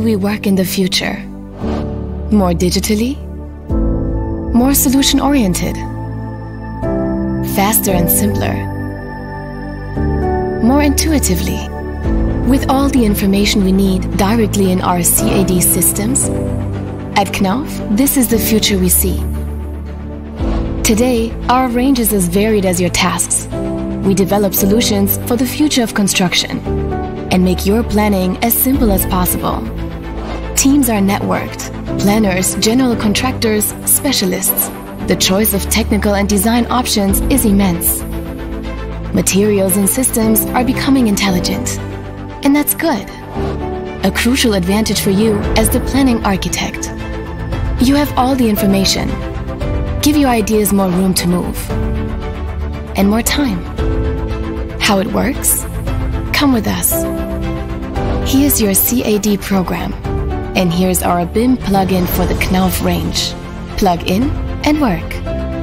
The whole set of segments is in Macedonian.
we work in the future? More digitally? More solution-oriented? Faster and simpler? More intuitively? With all the information we need directly in our CAD systems? At Knauf, this is the future we see. Today, our range is as varied as your tasks. We develop solutions for the future of construction and make your planning as simple as possible. Teams are networked. Planners, general contractors, specialists. The choice of technical and design options is immense. Materials and systems are becoming intelligent. And that's good. A crucial advantage for you as the planning architect. You have all the information. Give your ideas more room to move. And more time. How it works? Come with us. Here's your CAD program. And here's our BIM plugin for the Knauf range. Plug in and work.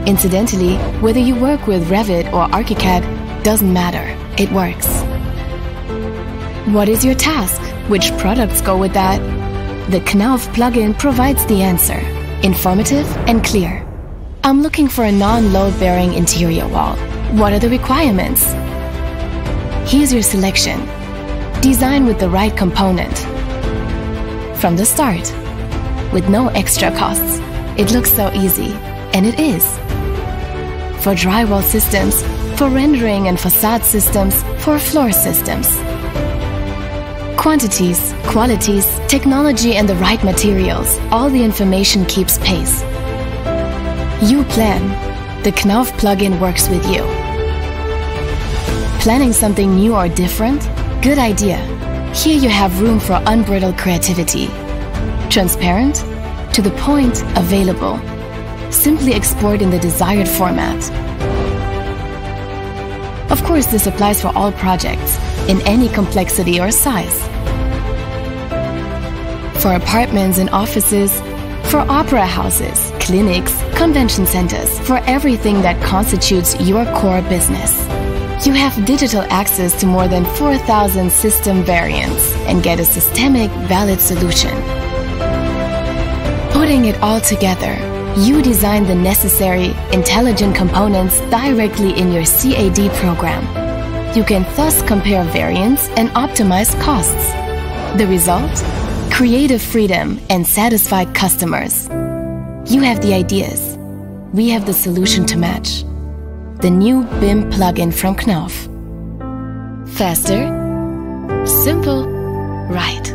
Incidentally, whether you work with Revit or ArchiCAD, doesn't matter. It works. What is your task? Which products go with that? The Knauf plugin provides the answer. Informative and clear. I'm looking for a non-load-bearing interior wall. What are the requirements? Here's your selection. Design with the right component. From the start, with no extra costs. It looks so easy, and it is. For drywall systems, for rendering and facade systems, for floor systems. Quantities, qualities, technology and the right materials, all the information keeps pace. You plan. The Knauf plugin works with you. Planning something new or different? Good idea. Here you have room for unbridled creativity. Transparent, to the point, available. Simply export in the desired format. Of course, this applies for all projects, in any complexity or size. For apartments and offices, for opera houses, clinics, convention centers, for everything that constitutes your core business. You have digital access to more than 4,000 system variants and get a systemic, valid solution. Putting it all together, you design the necessary, intelligent components directly in your CAD program. You can thus compare variants and optimize costs. The result? Creative freedom and satisfied customers. You have the ideas. We have the solution to match. The new BIM plugin from Knauf. Faster, simple, right.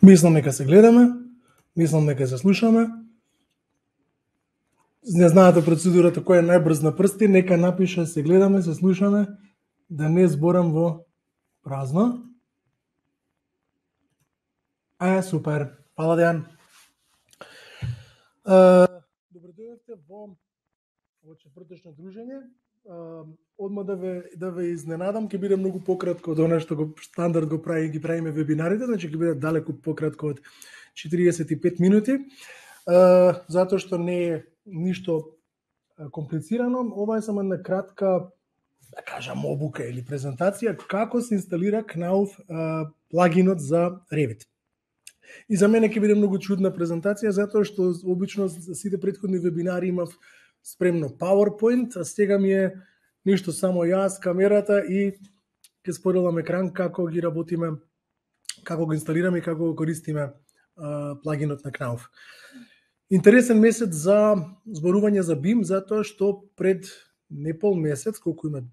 Мислам нека се гледаме, мислам нека се слушаме. Не знаете процедурата кој е најбрз на прсти, нека напише се гледаме, се слушаме, да не зборам во празно. Супер. Фала Дејан. Добро дојдовте во четврточно дружење. Одма да ве изненадам, ќе биде многу пократко од она што го стандард ги правиме вебинарите, значи ќе биде далеку пократко од 45 минути. Затоа што не е ништо комплицирано, ова е само една кратка, да кажам, обука или презентација како се инсталира Knauf плагинот за Revit. И за мене ќе биде многу чудна презентација затоа што обично сите претходни вебинари имав спремно PowerPoint, а сега ми е ништо само јас, камерата и ќе споделам екран како ги работиме, како го инсталираме и како го користиме плагинот на Knauf. Интересен месец за зборување за BIM, затоа што пред непол месец, колку има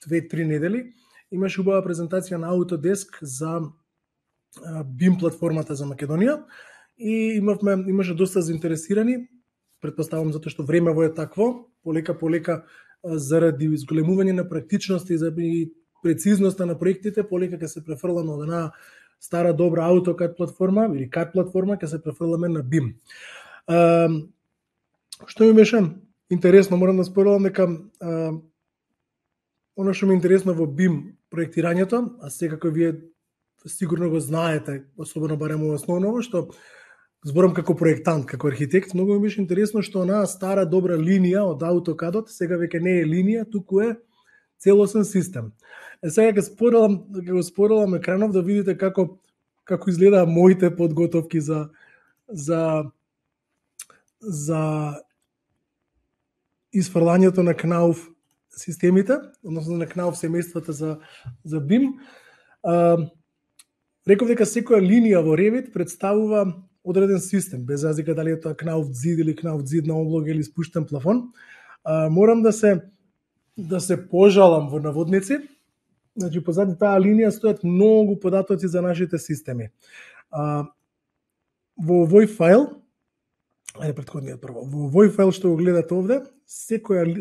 2-3 недели, имаше убава презентација на Autodesk за BIM платформата за Македонија и имаше доста заинтересирани, претпоставам затоа што времево е такво, полека заради изголемување на практичност и прецизноста на проектите, полека ќе се префрламе од една стара добра AutoCAD платформа или CAD платформа, ќе се префрламе на BIM. Што ми беше интересно, морам да споделам дека оно што ми е интересно во BIM проектирањето, а секако вие сигурно го знаете, особено барем во основново, што зборам како проектант, како архитект, многу ми беше интересно што онаа стара добра линија од AutoCAD-от сега веќе не е линија, туку е целосен систем. Сега ќе спорелам екранов да видите како изгледа моите подготовки за изфрлањето на Knauf системите, односно на Knauf семејствата за BIM. Реков дека секоја линија во Revit представува одреден систем, без разлика дали е тоа Knauf зид или Knauf зид на облога или спуштен плафон. Морам да се пожалам во наводници. Значи, позади таа линија стојат многу податоци за нашите системи. Во овој файл, предходниот прво, во овој файл што го гледате овде, секој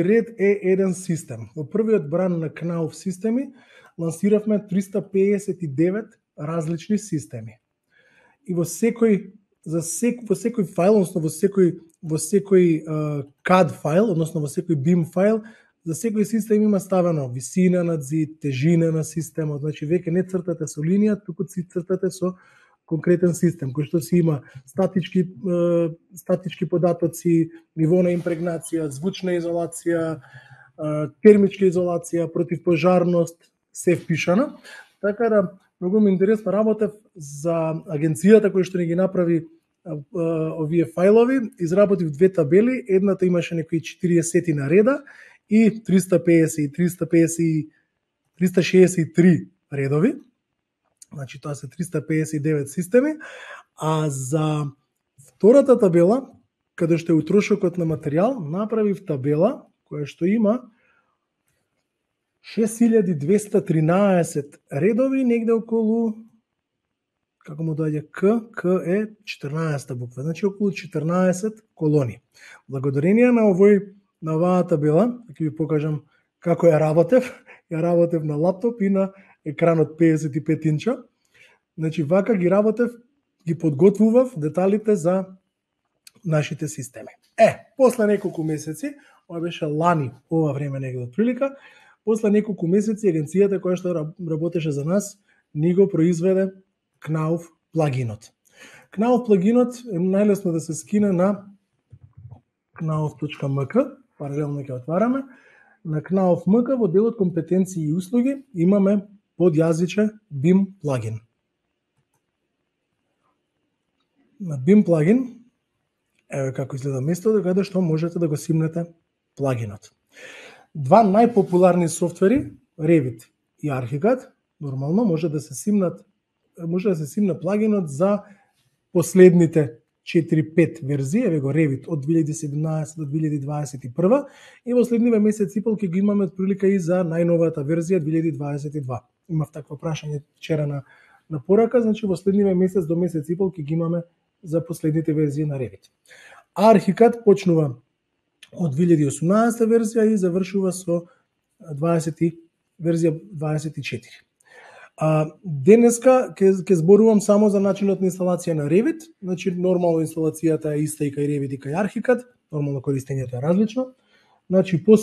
ред е еден систем. Во првиот бран на Knauf системи лансиравме 359 различни системи. И во секој файл, односно во секој CAD файл, односно во секој BIM файл, за секој систем има ставено висина на зид, тежина на системот, значи веќе не цртате со линија, туку цртате со конкретен систем, кој што си има статички податоци, ниво на импрегнација, звучна изолација, термичка изолација, противпожарност, се впишано. Така да, многу ми интересно работев за агенцијата која што ни ги направи овие фајлови, изработив две табели, едната имаше некои 40 на реда и 363 редови. Значи тоа се 359 системи, а за втората табела, каде што е утрошокот на материјал, направив табела која што има 6213 редови, негде околу, како му доаѓа К е 14 буква, значи околу 14 колони. Благодарение на оваа табела, ќе ви покажам како ја работев на лаптоп и на екранот 55 инча. Значи вака ги работев, ги подготвував деталите за нашите системи. После неколку месеци, ова беше лани, ова време негде отприлика, после неколку месеци агенцијата која што работеше за нас ни го произведе Knauf плагинот. Knauf плагинот е најлесно да се скине на knauf.mk, паралелно ќе отвараме. На Knauf.mk во делот компетенции и услуги имаме подјазиче BIM плагин. На BIM плагин, еве како изгледа местото каде што можете да го симнете плагинот. Два најпопуларни софтвери, Revit и ArchiCAD, нормално може да се симне плагинот за последните 4-5 верзии, еве го Revit од 2017 до 2021 и во следниве месец и пол ќе го имаме прилика и за најновата верзија 2022. Имав такво прашање вчера на порака, значи во следниве месец до месец и пол ќе ги имаме за последните верзии на Revit. ArchiCAD почнува од 2018 верзија и завршува со верзија 24. Денеска ќе зборувам само за начинот на инсталација на Revit, значи нормално инсталацијата е иста и кај Revit и кај ArchiCAD, нормално користењето е различно. Значи по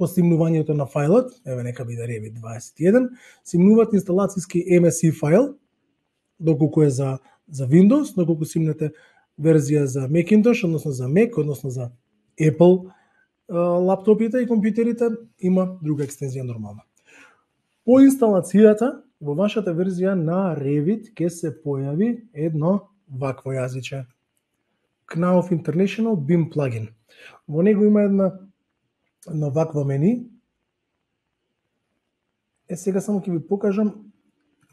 симнувањето на фајлот, еве нека биде Revit 21, симнуват инсталацијски MSI фајл, доколку е за Windows, доколку симнете верзија за Macintosh, односно за Mac, односно за Apple лаптопите и компјутерите, има друга екстензија нормално. По инсталацијата, во вашата верзија на Revit ќе се појави едно вакво јазиче. Knauf International BIM плагин. Во него има едно вакво мени. Сега само ќе ви покажам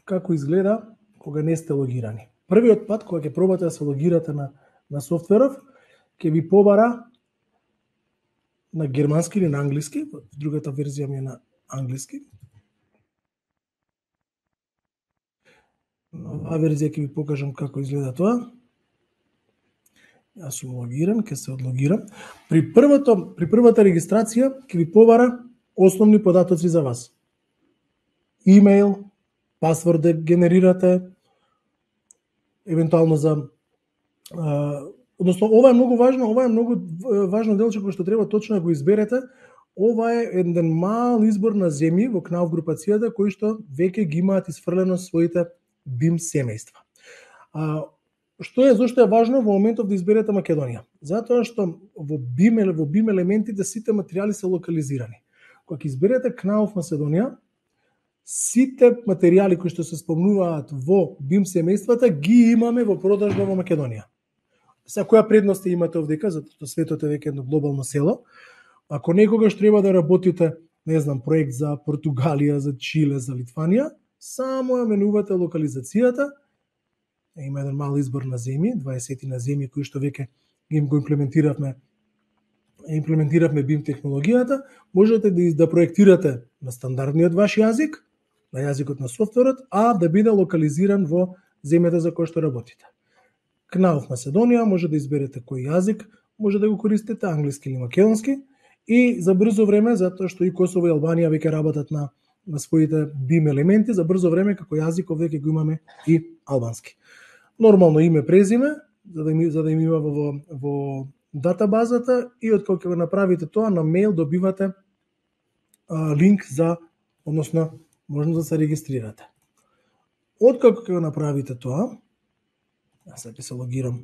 како изгледа кога не сте логирани. Првиот пат кога ќе пробате да се логирате на софтверов, ќе ви побара на германски или на англиски, другата верзија ми е на англиски. На оваа верзија ќе ви покажам како изгледа тоа. Јас сум логиран, ќе се одлогирам. При првата регистрација ќе ви побара основни податоци за вас. Имејл, пасворд да генерирате, евентуално односно ова е многу важно делче кој што треба точно да го изберете. Ова е еден мал избор на земји во Knauf групацијата кои што веќе ги имаат исфрлено своите BIM семејства. Зошто е важно во моментов да изберете Македонија? Затоа што во BIM елементите сите материјали се локализирани. Кога изберете Knauf Македонија, сите материјали кои што се спомнуваат во BIM семејствата ги имаме во продажба во Македонија. Сега која предност имате овдека, затоа светот е веќе едно глобално село. Ако некогаш треба да работите, не знам, проект за Португалија, за Чиле, за Литванија, само ја менувате локализацијата. Има еден мал избор на земји, 20 на земји кои што веќе им го имплементиравме BIM технологијата. Можете да проектирате на стандардниот ваш јазик, на јазикот на софтверот, а да биде локализиран во земјата за која што работите. Knauf Македонија може да изберете кој јазик, може да го користите англиски или македонски, и за брзо време, затоа што и Косово и Албанија веќе работат на своите BIM елементи, за брзо време како јазик веќе го имаме и албански. Нормално име, презиме, за да им има во датабазата, и откако го направите тоа, на мејл добивате линк за, односно, можност да се регистрирате. Откако го направите тоа, јас ќе се логирам.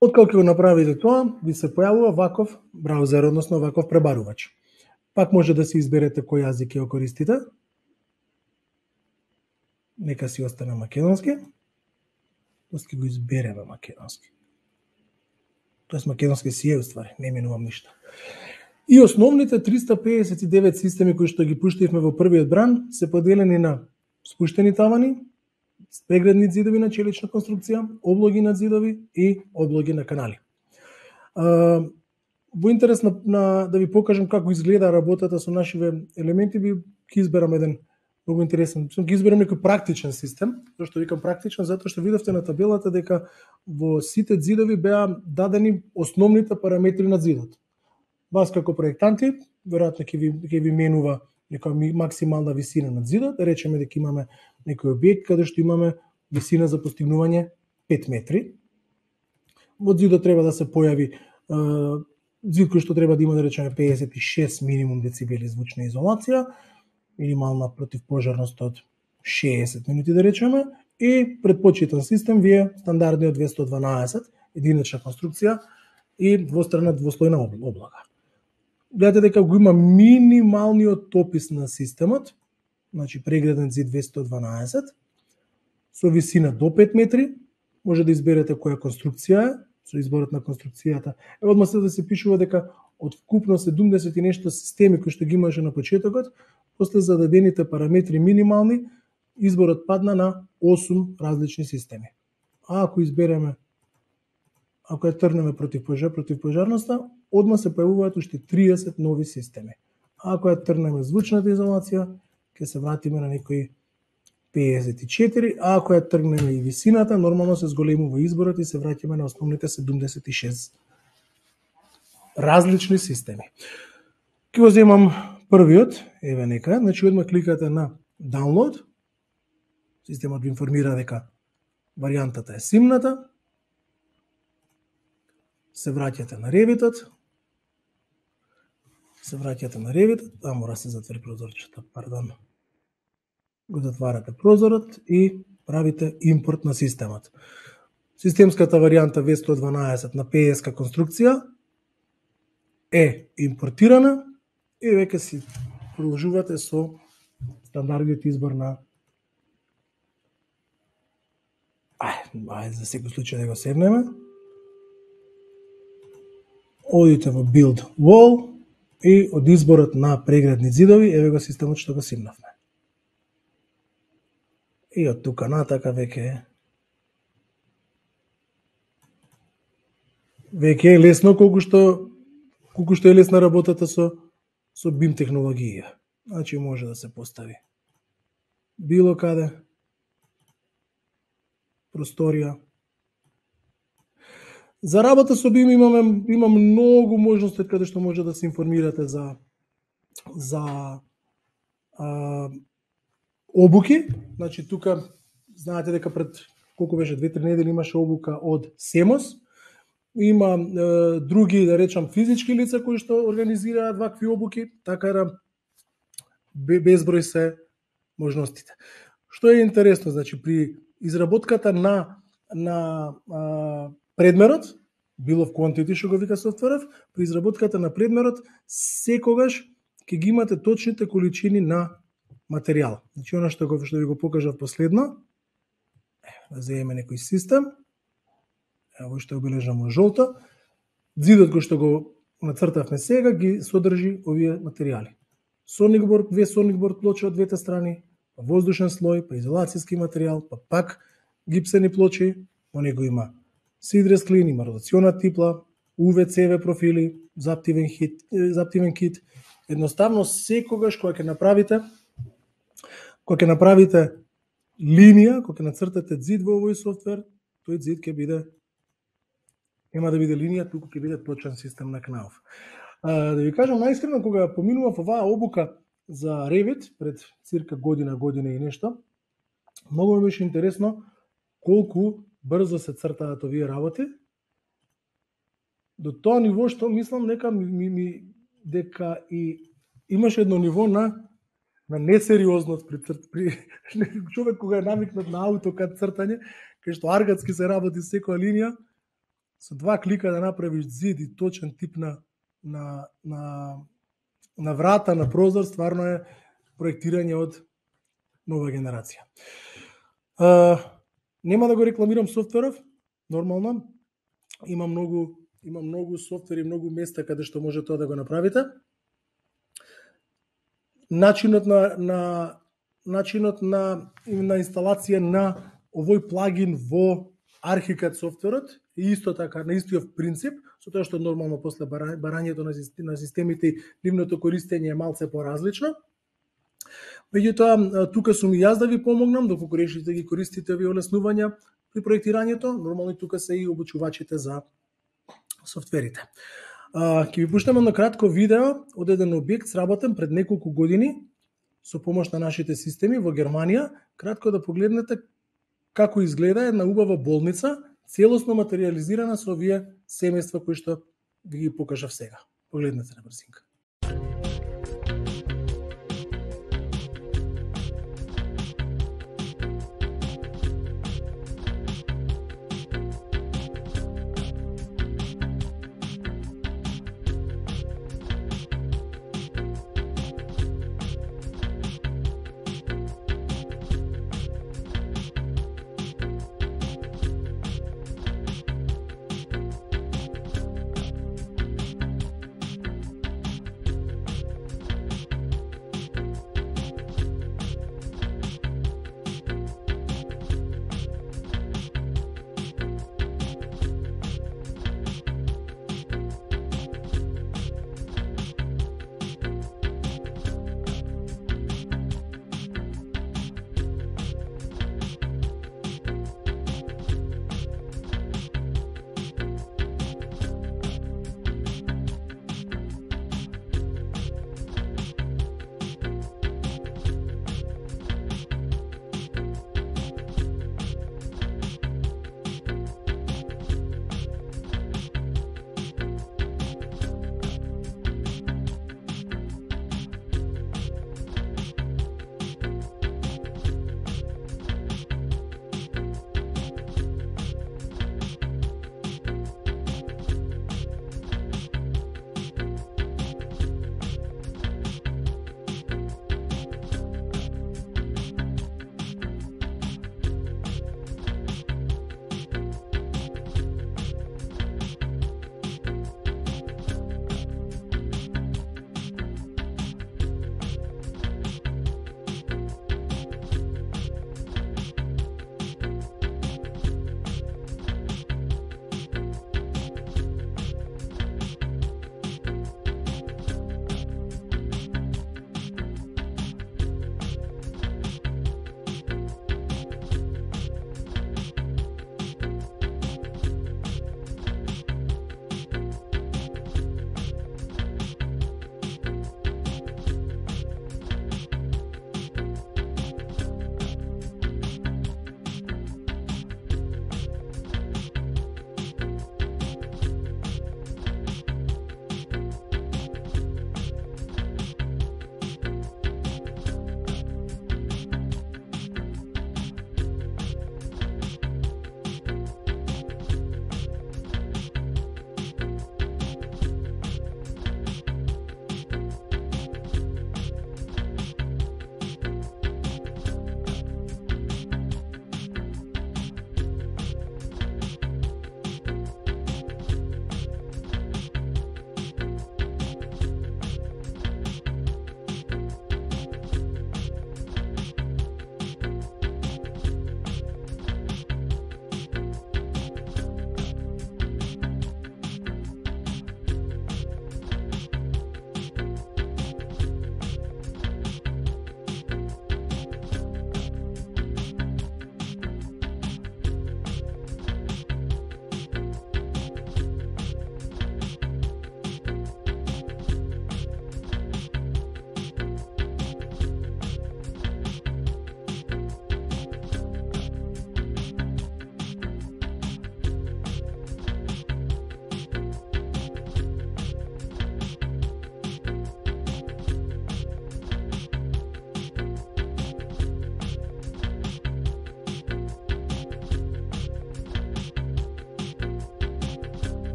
Откако го направите тоа, ви се појавува ваков браузер, односно ваков пребарувач. Пак може да си изберете кој јазик ќе го користите. Нека си остане македонски. Тоест ќе го избереме македонски. Тоест македонски си е уствари, не менувам ништо. И основните 359 системи кои што ги пуштивме во првиот бран се поделени на спуштени тавани, преградни зидови на челична конструкција, облоги на зидови и облоги на канали. Во интерес да ви покажам како изгледа работата со нашиве елементи, ви ќе изберам еден многу интересен. Ќе изберам некој практичен систем. Зашто викам практичен? Затоа што видовте на табелата дека во сите зидови беа дадени основните параметри на зидот. Вас како проектанти, веројатно ќе ви менува нека максимална висина на зидот, да речеме дека имаме некој објект каде што имаме висина за постигнување 5 метри. Во зидот треба да се појави зид кој што треба да има, да речеме, 56 минимум децибели звучна изолација, минимална противпожарност од 60 минути, да речеме, и предпочитан систем ви е стандардниот 212, единична конструкција и двослојна облага. Гледате дека го има минималниот опис на системот, значи преграден зид 212, со висина до 5 метри, може да изберете која конструкција е, со изборот на конструкцијата. Одма се да се пишува дека од вкупно 70 и нешто системи кои што ги имаше на почетокот, после зададените параметри минимални, изборот падна на 8 различни системи. А ако избереме, ако ја трнеме противпожарноста, одма се појавуваат уште 30 нови системи. А ако ја трнеме звучната изолација, ќе се вратиме на некои 54, а ако ја тргнеме и висината, нормално се зголемува изборот и се враќаме на основните 76 различни системи. Ке го земам првиот, еве нека, значи одма кликате на download, системот ви информира дека варијантата е симната, се враќате на Revit-от, мора се затвори прозорчето, пардон. Го затварате прозорот и правите импорт на системот. Системската варијанта V112 на PS-ка конструкција е импортирана и веќе си продолжувате со стандардниот избор на ајде за секој случај да го седнеме. Одите во Build Wall и од изборот на преградни зидови, еве го системот што го симнавме. И од тука натака веќе е лесно колку што е лесна работата со BIM технологија. Значи може да се постави било каде просторија. За работа со BIM има многу можности каде што може да се информирате за обуки. Значи тука знаете дека пред колку беше 2-3 недели имаше обука од Семос има други, да речам, физички лица кои што организираат вакви обуки, така да безброј се можностите. Што е интересно, значи при изработката на предмерот, било в quantity што го вика софтверов, при изработката на предмерот секогаш ќе ги имате точните количини на материјал. Значи она што ви го покажав последно, да земеме некој систем, ево што обележам жолто, зидот кој што го нацртавме сега ги содржи овие материјали. Соникборд, две соникборд плочи од двете страни, па воздушен слој, па изолацијски материјал, па пак гипсени плочи, во него има сидрес клин, има ротационна типла, UV-CV профили, заптивен кит. Едноставно секогаш кога ќе направите линија, кога ќе нацртате зид во овој софтвер, тој зид ќе биде, нема да биде линија, туку ќе биде точен систем на Knauf. Да ви кажам најискрено, кога поминував оваа обука за Revit пред цирка година и нешто, многу ми беше интересно колку брзо се цртаат овие работи. До тоа ниво што мислам дека и имаше едно ниво на несериозност при човек кога е навикнат на AutoCAD цртање, кај што аргатски се работи секоја линија, со 2 клика да направиш зид и точен тип на врата, на прозор, стварно е проектирање од нова генерација. Нема да го рекламирам софтверов, нормално, има многу софтвери, многу места каде што може тоа да го направите. Начинот на инсталација на овој плагин во ArchiCAD софтверот е исто така, на истиот принцип, со тоа што нормално после барањето на системите и нивното користење е малце поразлично. Меѓутоа, тука сум и јас да ви помогнам, доколку решите ги користите овие олеснувања при проектирањето, нормално и тука се и обучувачите за софтверите. Ќе ви пуштам едно кратко видео од еден објект сработен пред неколку години со помош на нашите системи во Германија, кратко да погледнете како изгледа една убава болница, целосно материјализирана со овие семејства кои што ви ги покажав сега. Погледнете на брзинка.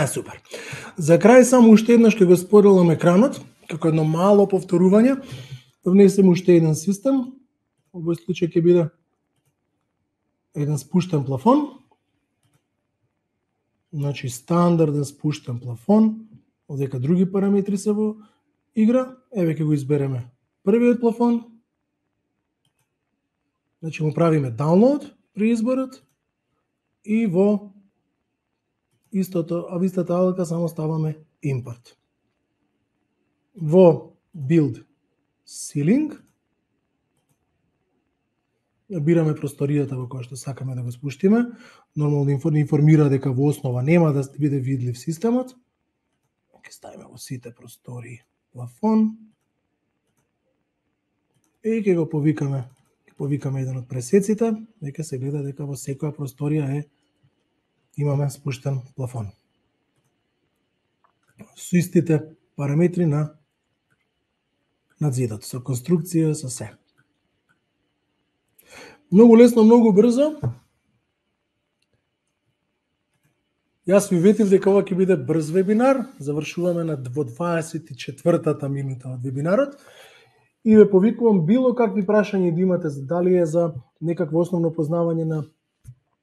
Супер. За крај само уште еднаш ќе го споделам екранот, како едно мало повторување. Внесем уште еден систем. Во овој случај ќе биде еден спуштен плафон. Значи стандарден спуштен плафон, одека други параметри се во игра. Еве ќе го избереме првиот плафон. Значи му правиме download при изборот и во истата алка само ставаме import. Во build ceiling бираме просторијата во која што сакаме да го спуштиме. Нормално информира дека во основа нема да биде видлив системот. Ќе ставиме во сите простории плафон и ќе го повикаме. Ќе повикаме еден од пресеците, дека се гледа дека во секоја просторија имаме спуштен плафон. Со истите параметри на зидот, со конструкција, со се. Многу лесно, многу брзо. Јас ви ветив дека ова ќе биде брз вебинар. Завршуваме во 24-та минута од вебинарот. И ве повикувам било какви прашања да имате, дали е за некакво основно познавање на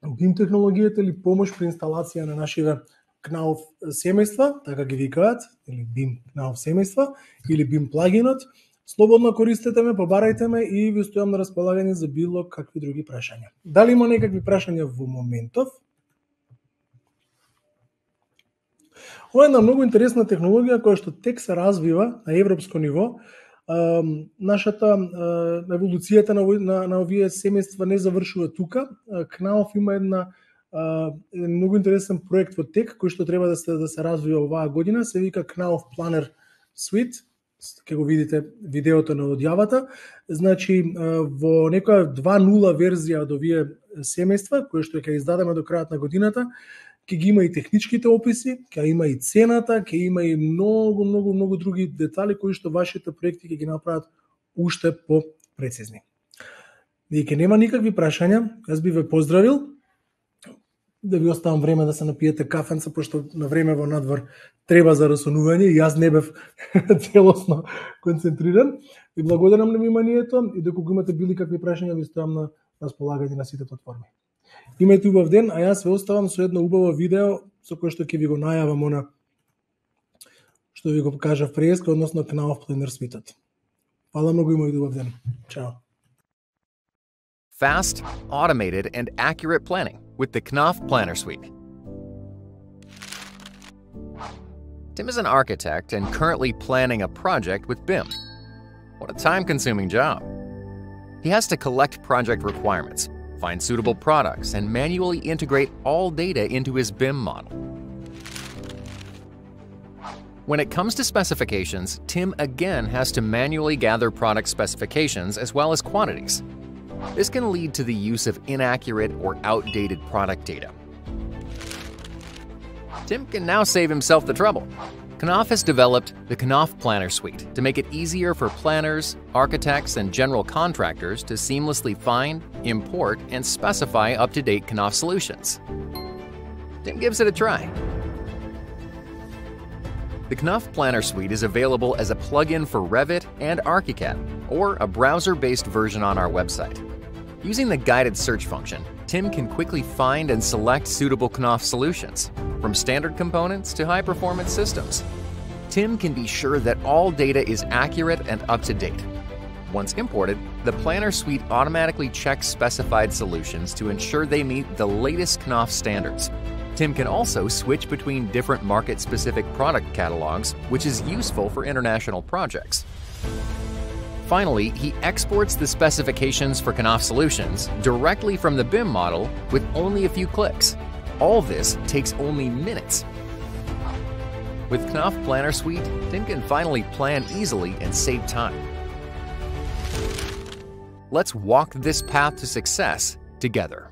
BIM технологијата или помош при инсталација на нашиве Knauf семејства, така ги викаат, или BIM Knauf семејства, или BIM плагинот. Слободно користете ме, побарајте ме и ви стојам на располагање за било какви други прашања. Дали има некакви прашања во моментов? Ова е една многу интересна технологија која што тек се развива на европско ниво. Нашата еволуцијата на овие семејства не завршува тука. Knauf има еден многу интересен проект во тек кој што треба да се развива оваа година, се вика Knauf Planner Suite. Ке го видите видеото на одјавата. Значи, во некоја 2.0 верзија од овие семејства, кои што ќе издадеме до крајот на годината, ќе ги има и техничките описи, ќе има и цената, ќе има и многу други детали кои што вашите проекти ќе ги направат уште по-прецизни. Дека нема никакви прашања, јас би ве поздравил, да ви оставам време да се напиете кафенца, пошто на време во надвор треба за расонување и јас не бев целосно концентриран. Ви благодарам на вниманието и доколку имате били какви прашања, ви стојам на располагање на сите платформи. Имајте убав ден, а јас ве оставам со едно убаво видео со кое што ќе ви го најавам она што ви го покажав преска, односно Knauf Planner Suite. Фала многу, имајте убав ден. Чао. Fast, automated, and accurate planning with the Knauf Planner Suite. Tim is an architect and currently planning a project with BIM. What a time-consuming job. He has to collect project requirements, find suitable products, and manually integrate all data into his BIM model. When it comes to specifications, Tim again has to manually gather product specifications as well as quantities. This can lead to the use of inaccurate or outdated product data. Tim can now save himself the trouble. Knauf has developed the Knauf Planner Suite to make it easier for planners, architects, and general contractors to seamlessly find, import, and specify up-to-date Knauf solutions. Tim gives it a try. The Knauf Planner Suite is available as a plugin for Revit and ArchiCAD, or a browser-based version on our website. Using the guided search function, Tim can quickly find and select suitable Knauf solutions, from standard components to high-performance systems. Tim can be sure that all data is accurate and up-to-date. Once imported, the Planner Suite automatically checks specified solutions to ensure they meet the latest Knauf standards. Tim can also switch between different market-specific product catalogs, which is useful for international projects. Finally, he exports the specifications for Knauf solutions directly from the BIM model with only a few clicks. All this takes only minutes. With Knauf Planner Suite, Tim can finally plan easily and save time. Let's walk this path to success together.